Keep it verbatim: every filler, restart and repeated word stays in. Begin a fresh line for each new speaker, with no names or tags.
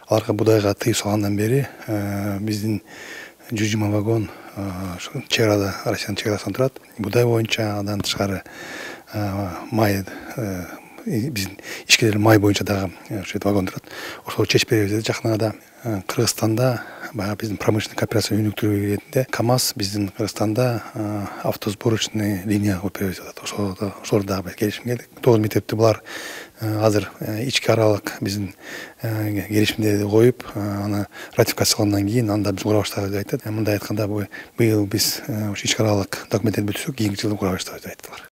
аларга будайга тыюу салгандан бери биздин жүз жыйырма вагон чек арада, Россиянын чек арасында турат. Будай боюнча андан тышкары май, биздин ичкилер май боюнча дагы ошо вагон турат. Ошол чечип беребиз деди жакын арада. Кыргызстанда баягы биздин промышленный кооперация өнүктүрүү ретинде КАМАЗ биздин Кыргызстанда автосборочный линия куруп беребиз деп атат. Ошолор дагы келишим келдик. Тогуз мектепти булар азыр ички аралык биздин келишимдерди коюп, аны ратификациялагандан кийин анда биз кура баштайбыз деп айтат. Мындай айтканда быйыл биз ички аралык документтерди бүтүрсөк, кийинки жылы кура баштайбыз деп айттылар.